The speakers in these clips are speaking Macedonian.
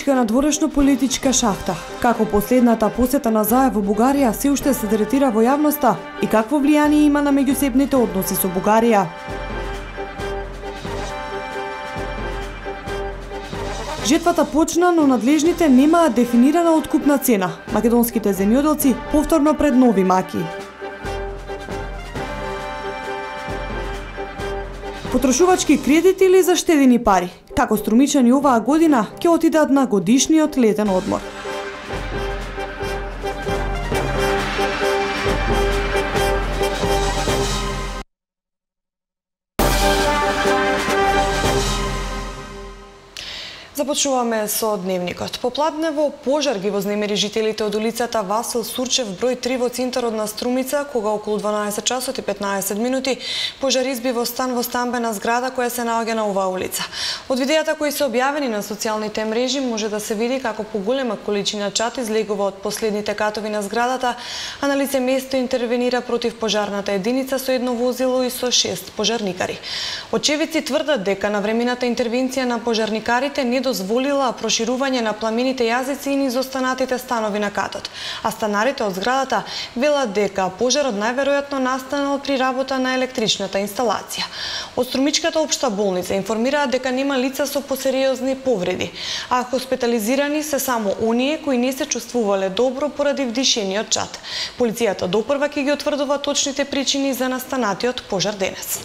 политичка надворешно политичка шахта. Како последната посета на Заев во Бугарија се уште се третира во јавноста и какво влијание има на меѓусебните односи со Бугарија. Жетвата почна, но надлежните немаат дефинирана откупна цена. Македонските земјоделци повторно пред нови маки. Потрошувачки кредити или заштедени пари? Како струмичани оваа година ќе отидат на годишниот летен одмор? Започнуваме со дневникот. Попладнево пожар ги вознемери жителите од улицата Васил Сурчев број 3 во центарот на Струмица, кога околу 12 часот и 15 минути пожар изби во стан во стамбена зграда која се наоѓа на оваа улица. Од видеата кои се објавени на социјалните мрежи може да се види како поголема количина чад излегува од последните катови на зградата, а на лице место интервенира против пожарната единица со едно возило и со 6 пожарникари. Очевидци тврдат дека навремената интервенција на пожарникарите не дозволила проширување на пламените јазици и низ останатите станови на катот. А станарите од зградата велат дека пожарот најверојатно настанал при работа на електричната инсталација. Од Струмичката општа болница информираат дека нема лица со посериозни повреди, а хоспитализирани се само оние кои не се чувствувале добро поради вдишениот чад. Полицијата допрва ќе ги утврдува точните причини за настанатиот пожар денес.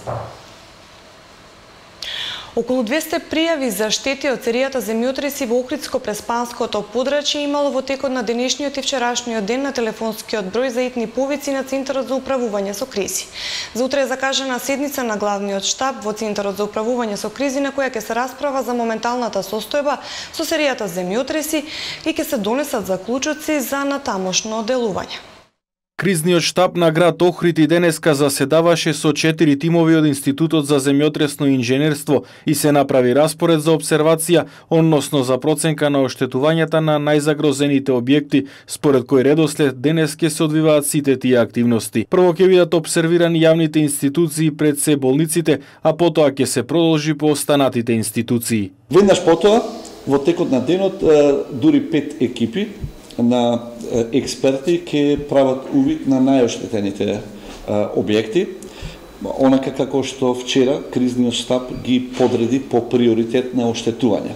Околу 200 пријави за штети од серијата земјотреси во Охридско-Преспанското подрачје имало во текот на денешниот и вчерашниот ден на телефонскиот број за итни повици на Центарот за управување со кризи. За утре е закажана седница на главниот штаб во Центарот за управување со кризи на која ќе се расправа за моменталната состојба со серијата земјотреси и ќе се донесат заклучоци за натамошно делување. Кризниот штаб на град Охрид и денеска заседаваше со 4 тимови од Институтот за земјотресно инженерство и се направи распоред за обсервација, односно за проценка на оштетувањата на најзагрозените објекти, според кој редослед денес ќе се одвиваат сите тие активности. Прво ќе бидат обсервирани јавните институции пред се болниците, а потоа ќе се продолжи по останатите институции. Веднаш потоа, во текот на денот, дури 5 екипи на експерти ќе прават увид на најоштетените објекти, онака како што вчера кризниот штаб ги подреди по приоритет на оштетување.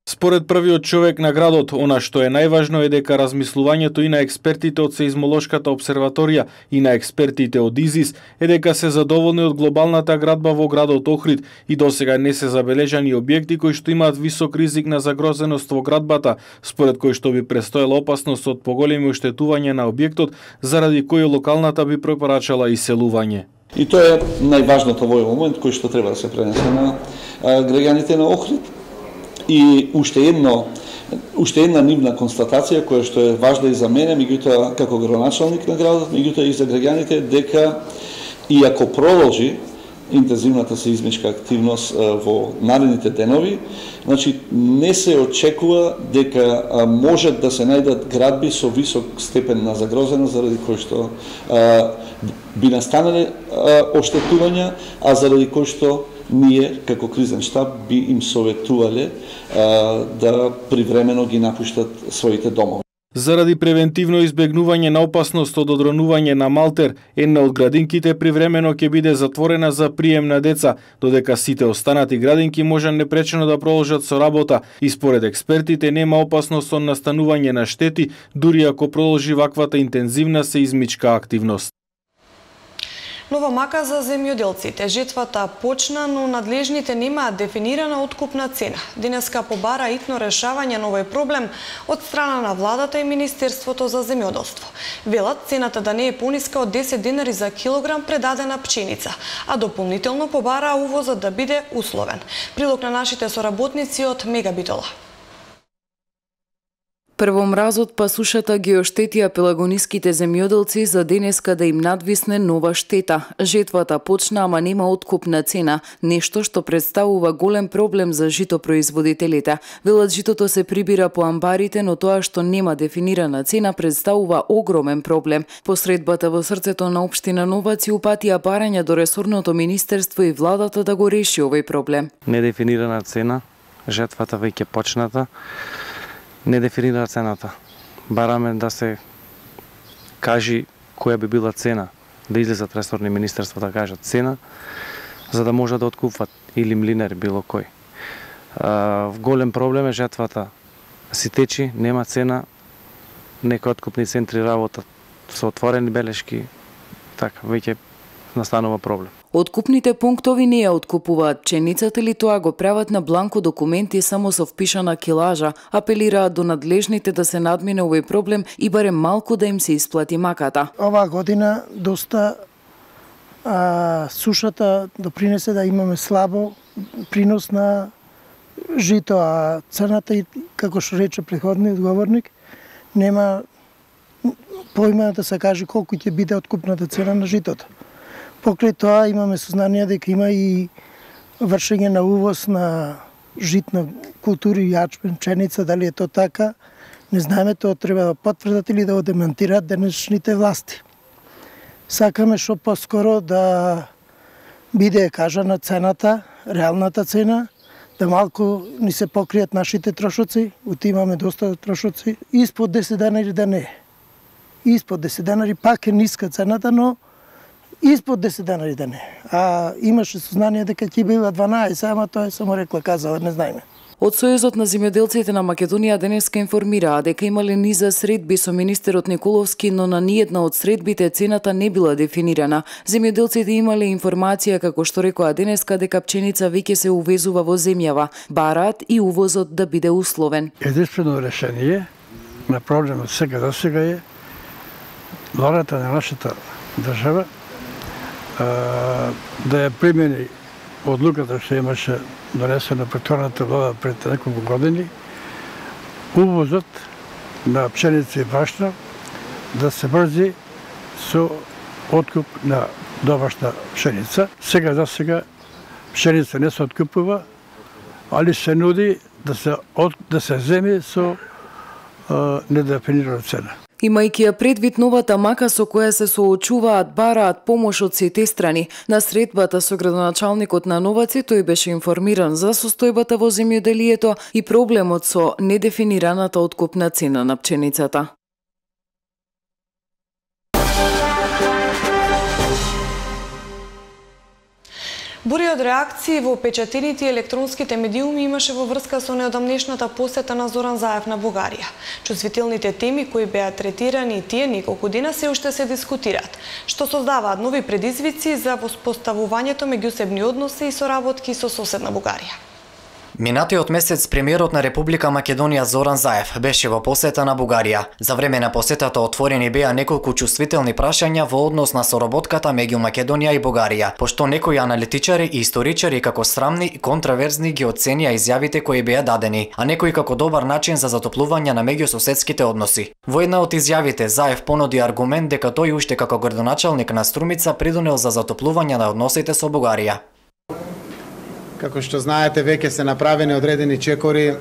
Според првиот човек на градот, она што е најважно е дека размислувањето и на експертите од Сеизмолошката обсерваторија и на експертите од ИЗИС е дека се задоволни од глобалната градба во градот Охрид и досега не се забележани објекти кои што имаат висок ризик на загрозеност во градбата, според кој што би престоела опасност од поголеми оштетување на објектот, заради кој локалната би препорачала иселување. И тоа е најважното во овој момент кој што треба да се пренесе на граѓаните на Охрид. И уште една нивна констатација која што е важна и за мене, меѓутоа како градоначалник на градот, меѓутоа и за граѓаните, дека иако продолжи интензивната сеизмичка активност во наредните денови, значи не се очекува дека можат да се најдат градби со висок степен на загрозеност заради кој што би настанале оштетувања, а заради кој што ние, како кризен штаб, би им советувале да привремено ги напуштат своите домови. Заради превентивно избегнување на опасност од одронување на малтер, една од градинките привремено ќе биде затворена за прием на деца, додека сите останати градинки може непречено да продолжат со работа и според експертите нема опасност од настанување на штети, дури ако продолжи ваквата интензивна сеизмичка активност. Нова мака за земјоделците. Жетвата почна, но надлежните немаат дефинирана откупна цена. Денеска побара итно решавање на овој проблем од страна на владата и Министерството за земјоделство. Велат цената да не е пониска од 10 денари за килограм предадена пченица, а дополнително побара увозот да биде условен. Прилог на нашите соработници од Мегабитола. Прво мразот па сушата ги оштетија пелагониските земјоделци за денеска да им надвисне нова штета. Жетвата почна, ама нема откупна цена, нешто што представува голем проблем за житопроизводителите. Велат житото се прибира по амбарите, но тоа што нема дефинирана цена представува огромен проблем. Посредбата во срцето на општина Новаци упатија барања до ресорното министерство и владата да го реши овој проблем. Недефинирана цена, жетвата веќе почната. Не дефинира цената. Бараме да се кажи која би била цена, да излезат ресорни министерства да кажат цена, за да може да откупват или млинар било кој. Голем проблем е жетвата. Си течи, нема цена, некои откупни центри работат со отворени белешки, така, веќе настанува проблем. Откупните пунктови не ја откупуваат пченицата или тоа го прават на бланко документи само со впишана килажа, апелираат до надлежните да се надмине овој проблем и барем малку да им се исплати маката. Оваа година доста сушата допринесе да имаме слабо принос на жито, а цената, како што рече претходниот говорник, нема поима да се каже колку ќе биде откупната цена на житото. Покрај тоа имаме сознание дека има и вршење на увоз на житна култури, јачмен, пшеница, дали е тоа така, не знаеме, тоа треба да потврдат или да го демонтираат денешните власти. Сакаме што поскоро да биде кажана цената, реалната цена, да малку ни се покријат нашите трошоци, имаме доста трошоци, испод 10 денари да не. Испод 10 денари пак е ниска цената, но испод 10 денари да не. А имаше сознание дека ќе била 12, ама тоа е само казала, не знаеме. Од Сојузот на земјоделците на Македонија денеска информираа дека имале низа средби со министерот Николовски, но на ниедна од средбите цената не била дефинирана. Земјоделците имале информација, како што рекоа денеска, дека пченица веќе се увезува во земјава. Бараат и увозот да биде условен. Единствено решение на проблемот сега до сега е владата на нашата држава да ја примени одлуката што имаше донесена претходната влада пред неколку години, увозот на пшеница и брашно да се врзи со откуп на домашна пшеница. Сега за сега пшеница не се откупува, али се нуди да се земи со недефинирана цена. Имајќи ја предвид новата мака со која се соочуваат, бараат помош од сите страни. На средбата со градоначалникот на Новаци тој беше информиран за состојбата во земјоделието и проблемот со недефинираната откупна цена на пченицата. Бури од реакции во печатените и електронските медиуми имаше во врска со неодамнешната посета на Зоран Заев на Бугарија. Чувствителните теми кои беа третирани и тие неколку дена се уште се дискутираат, што создаваат нови предизвици за воспоставувањето меѓусебни односи и соработки со соседна Бугарија. Минатиот месец премиерот на Република Македонија Зоран Заев беше во посета на Бугарија. За време на посетата отворени беа неколку чувствителни прашања во однос на соработката меѓу Македонија и Бугарија, пошто некои аналитичари и историчари како срамни и контраверзни ги оценија изјавите кои беа дадени, а некои како добар начин за затоплување на меѓусоседските односи. Во една од изјавите Заев понуди аргумент дека тој уште како градоначалник на Струмица придонел за затоплување на односите со Бугарија. Како што знаете, веќе се направени одредени чекори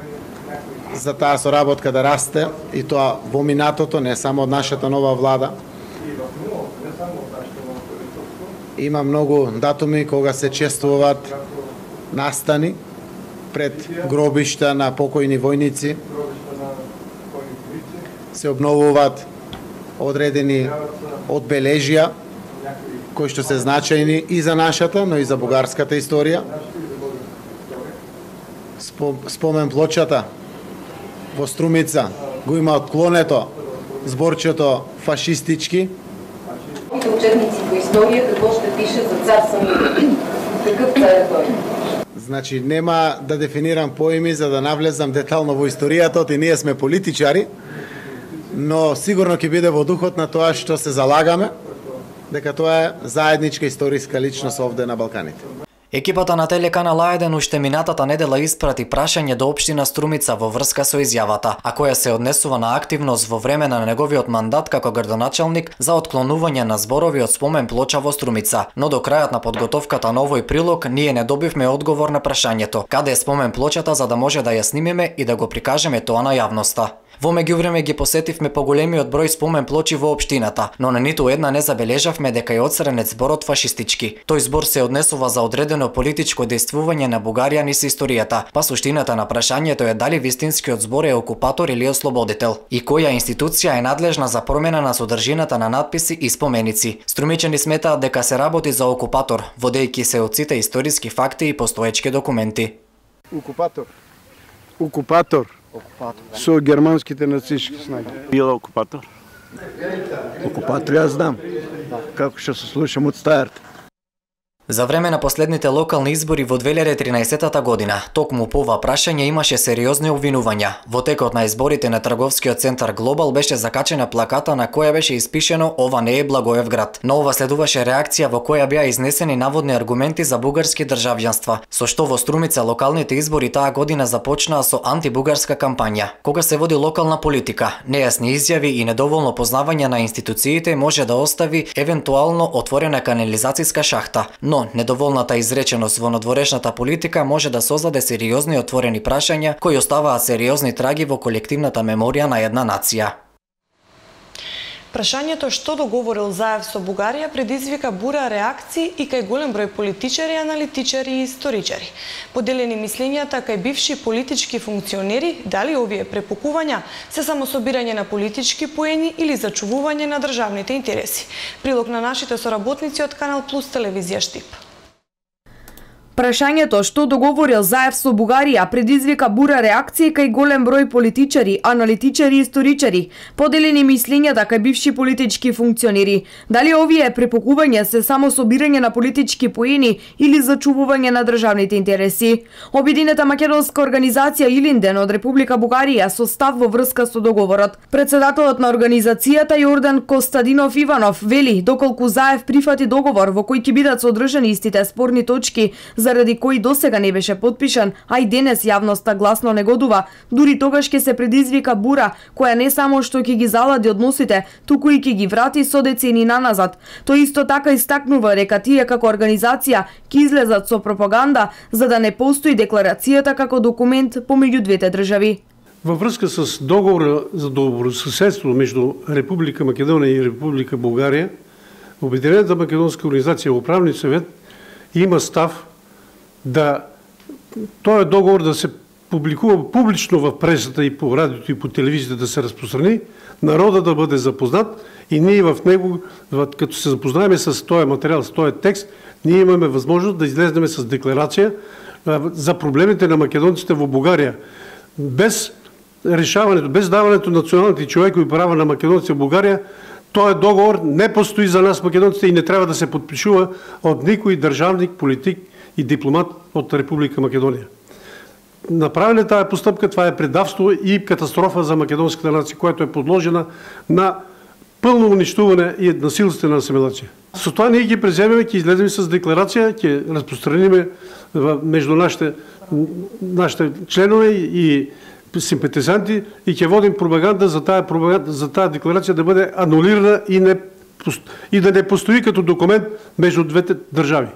за таа соработка да расте, и тоа во минатото, не само од нашата нова влада. Има многу датуми кога се чествуваат настани пред гробишта на покојни војници. Се обновуваат одредени одбележја кои што се значајни и за нашата, но и за бугарската историја. Спомен плочата во Струмица го има отклонето зборчето фашистички. Учебници по историја какво ще пише за цар Самуил? Какъв цар е тој? Значи нема да дефинирам поими за да навлезам детално во историјата, и ние сме политичари, но сигурно ќе биде во духот на тоа што се залагаме, дека тоа е заедничка историска личност овде на Балканите. Екипата на телеканал А1 уште минатата недела испрати прашање до општина Струмица во врска со изјавата, а која се однесува на активност во време на неговиот мандат како градоначалник за отклонување на зборови од спомен плоча во Струмица. Но до крајот на подготовката на овој прилог ние не добивме одговор на прашањето каде е спомен плочата за да може да ја снимиме и да го прикажеме тоа на јавноста. Во меѓувреме ги посетивме поголемиот број спомен плочи во општината, но на ниту една не забележавме дека е одстранет зборот фашистички. Тој збор се однесува за одредено политичко дејствување на Бугарија низ историјата, па суштината на прашањето е дали вистинскиот збор е окупатор или ослободител и која институција е надлежна за промена на содржината на надписи и споменици. Струмичани сметаат дека се работи за окупатор, водејќи се од сите историски факти и постоечки документи. Окупатор. Со германските нацистски снаги. Бил окупатор? Окупатор јас знам. Како што се слушам од старт. За време на последните локални избори во 2013 година, токму по ова прашање имаше сериозни обвинувања. Во текот на изборите на трговскиот центар Глобал беше закачена плаката на која беше испишено "Ова не е Благоевград". На ова следуваше реакција во која беа изнесени наводни аргументи за бугарски државјанства, со што во Струмица локалните избори таа година започнаа со антибугарска кампања. Кога се води локална политика, нејасни изјави и недоволно познавање на институциите може да остави евентуално отворена канализацијска шахта, но недоволната изреченост во надворешната политика може да создаде сериозни отворени прашања кои оставаат сериозни траги во колективната меморија на една нација. Прашањето што договорил Заев со Бугарија предизвика бура реакции и кај голем број политичари, аналитичари и историчари. Поделени мислењата кај бивши политички функционери дали овие препукувања се само собирање на политички поени или зачувување на државните интереси. Прилог на нашите соработници од Канал Плюс телевизија Штип. Прашањето што договорил Заев со Бугарија предизвика бура реакции кај голем број политичари, аналитичари и историчари. Поделени мислењата кај бивши политички функционери. Дали овие препукувања се само собирање на политички поени или зачувување на државните интереси? Обединета македонска организација Илинден од Република Бугарија со став во врска со договорот. Председателот на организацијата Јордан Костадинов Иванов вели доколку Заев прифати договор во кој ќе бидат содржани истите спорни точки заради кои досега не беше потпишан, а и денес јавноста гласно негодува, дури тогаш ќе се предизвика бура која не само што ќе ги залади односите, туку и ќе ги врати со децени наназад. Тој исто така истакнува дека тие како организација ќе излезат со пропаганда за да не постои декларацијата како документ помеѓу двете држави. Во врска с договор за добрососедство меѓу Република Македонија и Република Бугарија, Обединената македонска организација Управни совет има став да тој договор да се публикува публично во пресата и по радиото и по телевизијата да се распространи, народот да бъде запознат и ние в него, като се запознаеме с тој материјал, с тој текст, ние имаме възможност да излезнеме с декларација за проблемите на македонците во Бугарија. Без решаването, без даването на националните човекови права на македонците во Бугарија, тој договор не постои за нас македонците и не треба да се подпишува од никој државник, политик и дипломат од Република Македонија. Направена таа постапка, това е предавство и катастрофа за македонската нација, която е подложена на пълно уништуване и насилствена асимилација. Со тоа ние ги преземеме, ќе излеземе с декларација, ќе разпространиме меѓу нашите членове и симпатизанти и ќе водим пропаганда за таа декларација да биде анулирана и да не постои като документ меѓу двете држави.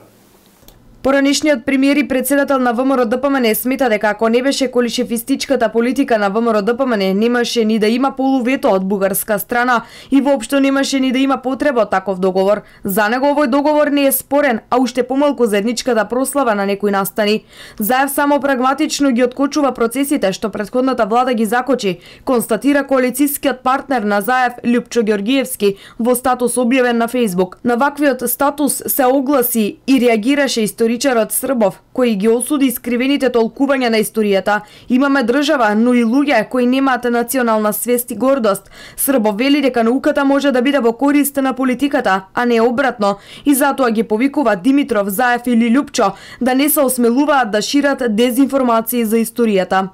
Поранешниот премиер и председател на ВМРО-ДПМН смета дека ако не беше колишевистичката политика на ВМРО-ДПМН, немаше ни да има полувето од бугарска страна и воопшто немаше ни да има потреба од таков договор. За него овој договор не е спорен, а уште помалку заедничката прослава на некои настани. Заев само прагматично ги откочува процесите што претходната влада ги закочи, констатира коалицијскиот партнер на Заев Љупчо Ѓоргиевски во статус објавен на Фејсбук. На ваквиот статус се огласи и реагираше историчарот Србов, кој ги осуди искривените толкувања на историјата. Имаме држава, но и луѓе кои немаат национална свест и гордост. Србов вели дека науката може да биде во корист на политиката, а не обратно, и затоа ги повикува Димитров, Заев или Љупчо да не се осмелуваат да шират дезинформации за историјата.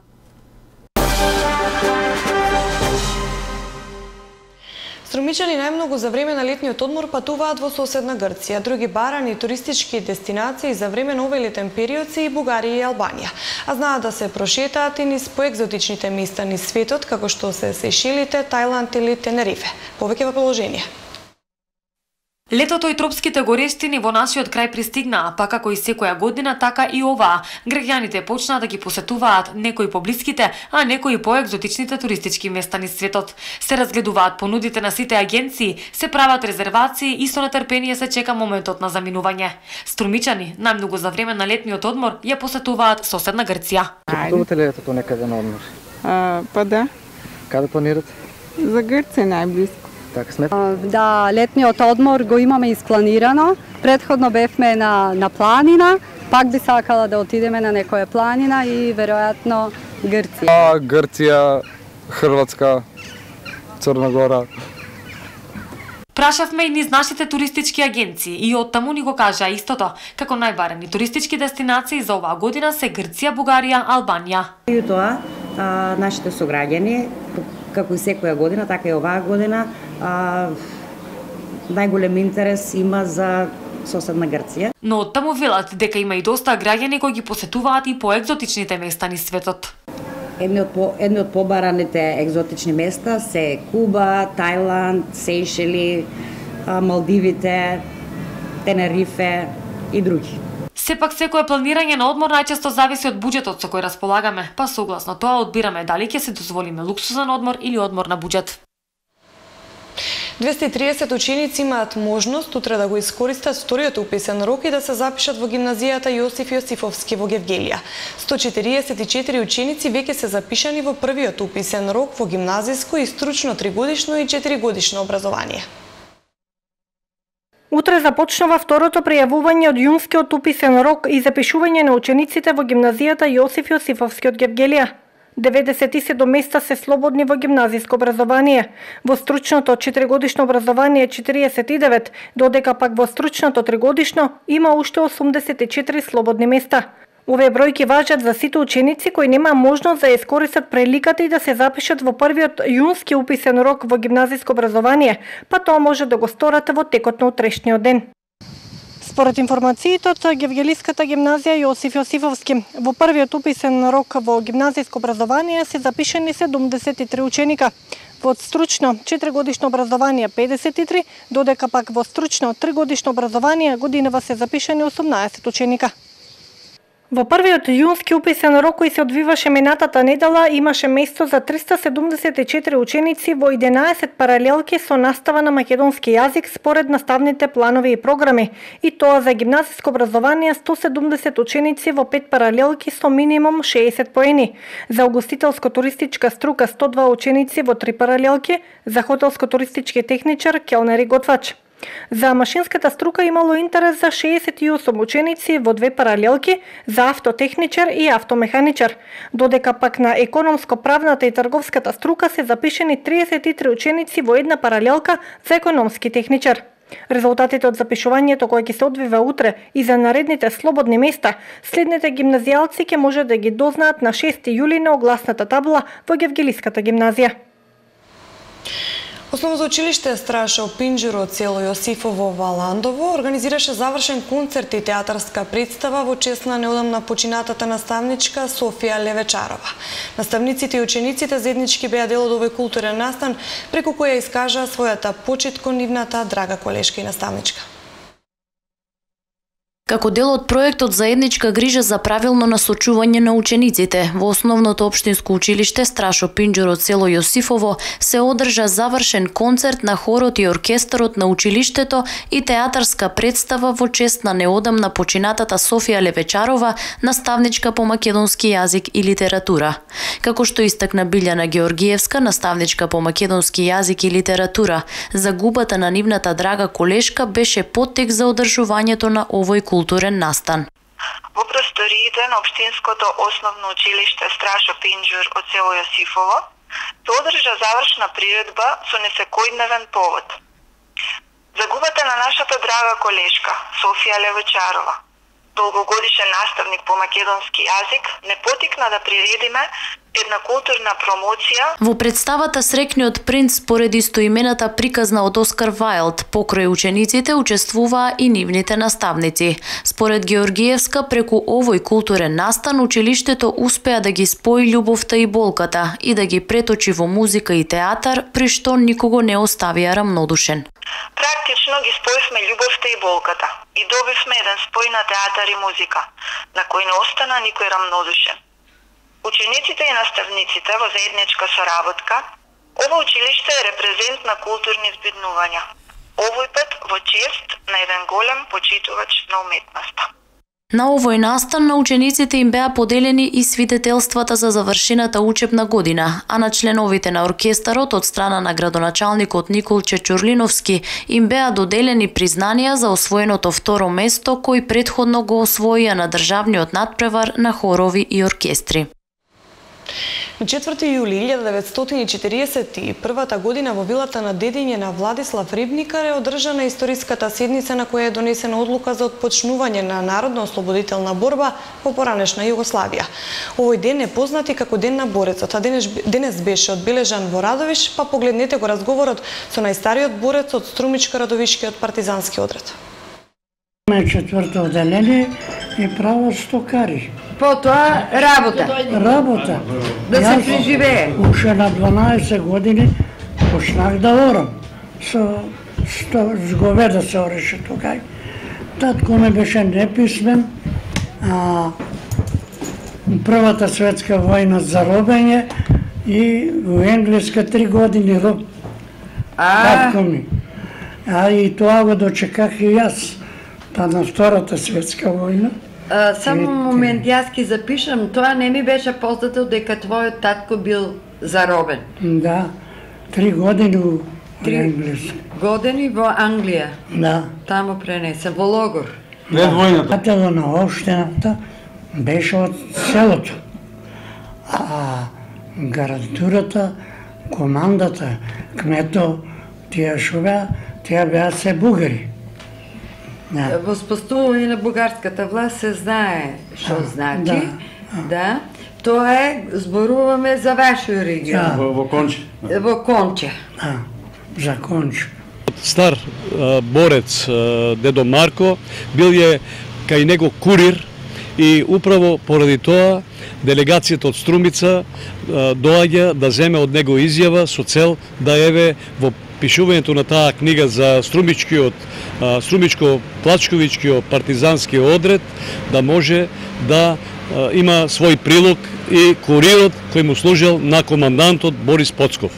Струмичани најмногу за време на летниот одмор патуваат во соседна Грција. Други барани и туристички дестинации за време на овој летен период се и Бугарија и Албанија. А знаат да се прошетаат и низ поекзотичните места низ светот, како што се Сејшелите, Тајланд или Тенерифе. Повеќе во приложение. Летото и тропските горештини во нашиот крај пристигнаа, па како и секоја година, така и оваа. Граѓаните почнаа да ги посетуваат некои поблиските, а некои поекзотичните туристички места низ светот. Се разгледуваат понудите на сите агенции, се прават резервации и со нетрпение се чека моментот на заминување. Струмичани, најмногу за време на летниот одмор, ја посетуваат соседна Грција. Патувате ли летото некаде на одмор? Па да. Каде планирате? За Грција најблиско. Така сме. Да, летниот одмор го имаме испланирано. Претходно бевме на планина, пак би сакала да отидеме на некоја планина и веројатно Грција. Грција, Хрватска, Црна Гора. Прашавме и низ нашите туристички агенции и оттаму ни го кажаа истото, како најбарени туристички дестинации за оваа година се Грција, Бугарија, Албанија. И тоа, нашите сограѓани, како и секоја година, така и оваа година, најголем интерес има за соседна Грција. Но оттаму велат дека има и доста граѓани кои ги посетуваат и поекзотичните места низ светот. Едни од побараните екзотични места се Куба, Тајланд, Сејшели, Малдивите, Тенерифе и други. Сепак секое планирање на одмор најчесто зависи од буџетот со кој располагаме, па согласно тоа одбираме дали ќе се дозволиме луксузен одмор или одмор на буџет. 230 ученици имаат можност утре да го искористат вториот уписен рок и да се запишат во гимназијата Јосиф Јосифовски во Гевгелија. 144 ученици веќе се запишани во првиот уписен рок во гимназиско и стручно 3-годишно и 4-годишно образование. Утре започнува второто пријавување од јунскиот уписен рок и запишување на учениците во гимназијата Јосиф Јосифовски од Гевгелија. 97 места се слободни во гимназиско образование. Во стручното 4-годишно образование 49, додека пак во стручното 3-годишно има уште 84 слободни места. Овие бројки важат за сите ученици кои нема можност да искористат приликата и да се запишат во првиот јунски уписен рок во гимназиско образование, па тоа може да го сторат во текот на утрешниот ден. Според информациите од Гевгелиската гимназија Јосиф Јосифовски, во првиот уписен рок во гимназиско образование се запишани 73 ученика. Во стручно 4-годишно образование 53, додека пак во стручно 3-годишно образование годинава се запишани 18 ученика. Во првиот јунски уписен рок кој се одвиваше минатата недела имаше место за 374 ученици во 11 паралелки со настава на македонски јазик според наставните планови и програми, и тоа за гимназиско образование 170 ученици во 5 паралелки со минимум 60 поени, за угостителско-туристичка струка 102 ученици во 3 паралелки, за хотелско-туристички техничар, келнер и готвач. За машинската струка имало интерес за 68 ученици во 2 паралелки, за автотехничар и автомеханичар, додека пак на економско-правната и трговската струка се запишени 33 ученици во една паралелка за економски техничар. Резултатите од запишувањето кој ќе се одвива утре и за наредните слободни места, следните гимназијалци ќе може да ги дознаат на 6 јули на огласната табла во Гевгелиската гимназија. Основно за училиште Страшо Пинџуро од село Јосифово во Ландово организираше завршен концерт и театарска представа во чест на неодамна починатата наставничка Софија Левечарова. Наставниците и учениците заеднички беа дел од овој културен настан, преку која искажаа својата почит кон нивната драга колешка и наставничка. Како дел од проектот заедничка грижа за правилно насочување на учениците, во основното општинско училиште Страшо Пинџуро од село Јосифово се одржа завршен концерт на хорот и оркестарот на училиштето и театарска представа во чест на неодамна починатата Софија Левечарова, наставничка по македонски јазик и литература. Како што истакна Билјана Георгиевска, наставничка по македонски јазик и литература, загубата на нивната драга колешка беше поттек за одржувањето на овој културен настан. Во просториите на општинското основно училиште Страшо Пинџур од село Јосифово се одржа завршна приредба со несекојдневен повод. Загубата на нашата драга колешка Софија Левечарова, долгогодишен наставник по македонски јазик, не потикна да приредиме една културна промоција. Во представата Срекниот принц според истоимената приказна од Оскар Вајлд, покрај учениците учествуваа и нивните наставници. Според Георгиевска, преку овој културен настан училиштето успеа да ги спои љубовта и болката и да ги преточи во музика и театар, при што никого не оставија рамнодушен. Практично ги споивме љубовта и болката и добивме еден спој на театар и музика, на кој не остана никој рамнодушен. Учениците и наставниците во заедничка соработка, ова училиште е репрезент на културни збиднувања. Овој пат во чест на еден голем почитувач на уметноста. На овој настан на учениците им беа поделени и свидетелствата за завршената учебна година, а на членовите на оркестарот од страна на градоначалникот Николче Чурлиновски им беа доделени признанија за освоеното второ место кој претходно го освоија на државниот надпревар на хорови и оркестри. На 4 јули 1941 година во вилата на дедиње на Владислав Рибникар е одржана историската седница на која е донесена одлука за отпочнување на народно-ослободителна борба во поранешна Југославија. Овој ден е познат и како Ден на борецот, а денес беше одбележан во Радовиш, па погледнете го разговорот со најстариот борец од Струмичко-Радовишкиот партизански одред. Четврто одделение и право стокари. Потоа работа. Работа. Да се преживее. Уште на 12 години почнах да орам. Со говеда се ореше тука. Татко ме беше неписмен, а Првата светска војна за робење и во Енглеска 3 години роб. Татко ми. А и тоа го дочеках и јас. Та на Втората светска војна. Само момент, јас ки запишам, тоа не ми беше познато дека твојот татко бил заробен. Да, 3 години во Енглеска. 3 години во Англија. Да. Таму пренесе, во логор. Пред војната. Патело на општината беше од селото. А гарнитурата, командата, кмето, тие шо беа се бугари. Во спостување на бугарската власт се знае што значи. Да. Тоа е, зборуваме за вашиот регион. Во Конче. Во Конче. За Конче. Стар борец дедо Марко бил е кај него курир и управо поради тоа делегацијата од Струмица доаѓа да земе од него изјава со цел да еве во пишувањето на таа книга за Струмичко-Плачковичкиот партизански одред да може да има свој прилог и курирот кој му служел на командантот Борис Поцков.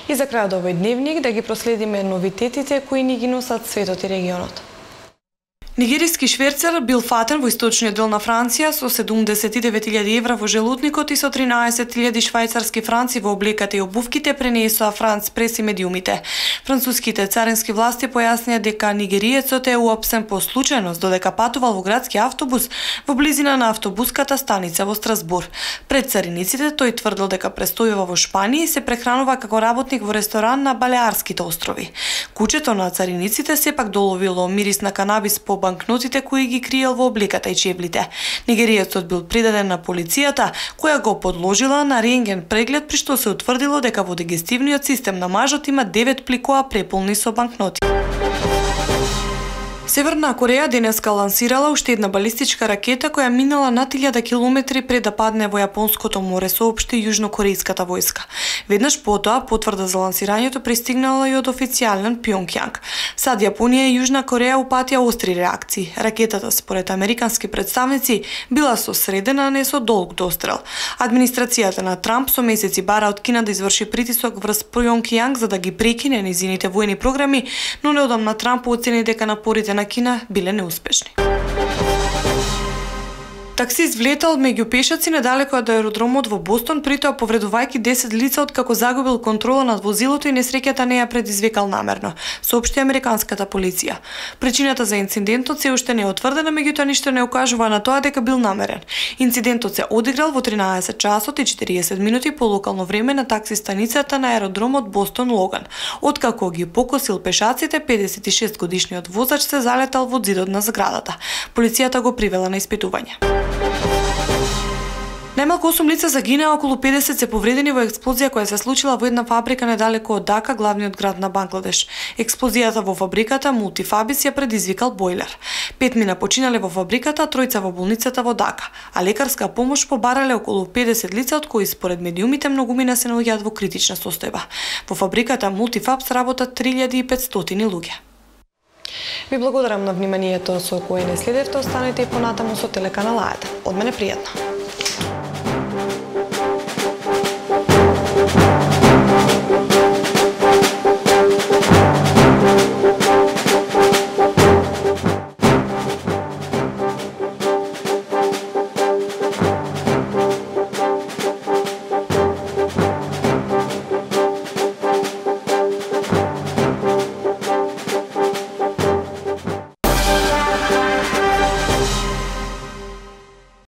И за крајот овој дневник да ги проследиме новитетите кои ни ги носат светот и регионот. Нигериски шверцер бил фатен во источниот дел на Франција со 79.000 евра во желудникот и со 13.000 швајцарски франци во облеката и обувките, пренесоа Франц прес и медиумите. Француските царински власти појаснија дека нигериецот е уапсен по случајност додека патувал во градски автобус во близина на автобуската станица во Страсбур. Пред цариниците тој тврдил дека престојува во Шпанија и се прехранува како работник во ресторан на Балеарските острови. Кучето на цариниците сепак доловило мирис на канабис по банкнотите кои ги криел во облеката и чевлите. Нигериецот бил придаден на полицијата, која го подложила на рентген преглед, при што се утврдило дека во дигестивниот систем на мажот има 9 пликоа преполни со банкноти. Северна Кореја денеска лансирала уште една балистичка ракета која минала над 1000 километри пред да падне во Јапонското море, соопшти јужнокорејската војска. Веднаш потоа потврда за лансирањето пристигнала и од официјален Пјонгјанг. Сад Јапонија и Јужна Кореја упатија остри реакции. Ракетата, според американски представници, била со среден, а не со долг дострел. Администрацијата на Трамп со месеци бара од Кина да изврши притисок врз Пјонгјанг за да ги прекине низините војни програми, но неодамна Трамп оцени дека напорите на Кина биле неуспешни. Таксист влетал меѓу пешаци недалеку од аеродромот во Бостон, притоа повредувајќи 10 лица откако загубил контрола над возилото и несреќата не ја предизвикал намерно, соопшти американската полиција. Причината за инцидентот се уште не е утврдена, меѓутоа ништо не укажува на тоа дека бил намерен. Инцидентот се одиграл во 13 часот и 40 минути по локално време на такси станицата на аеродромот Бостон Логан. Откако ги покосил пешаците, 56 годишниот возач се залетал во зидот на зградата. Полицијата го привела на испитување. Најмалку 8 лица загинаа, околу 50 се повредени во експлозија која се случила во една фабрика недалеку од Дака, главниот град на Бангладеш. Експлозијата во фабриката Мултифабис ја предизвикал бојлер. 5 мина починале во фабриката, тројца во болницата во Дака, а лекарска помош побарале околу 50 лица, од кои според медиумите многумина се наоѓаат во критична состојба. Во фабриката Мултифабс работат 3500 луѓе. Ви благодарам на вниманието со кое не следевте, останете и понатаму со телеканал АЕТ. Од мене пријатно.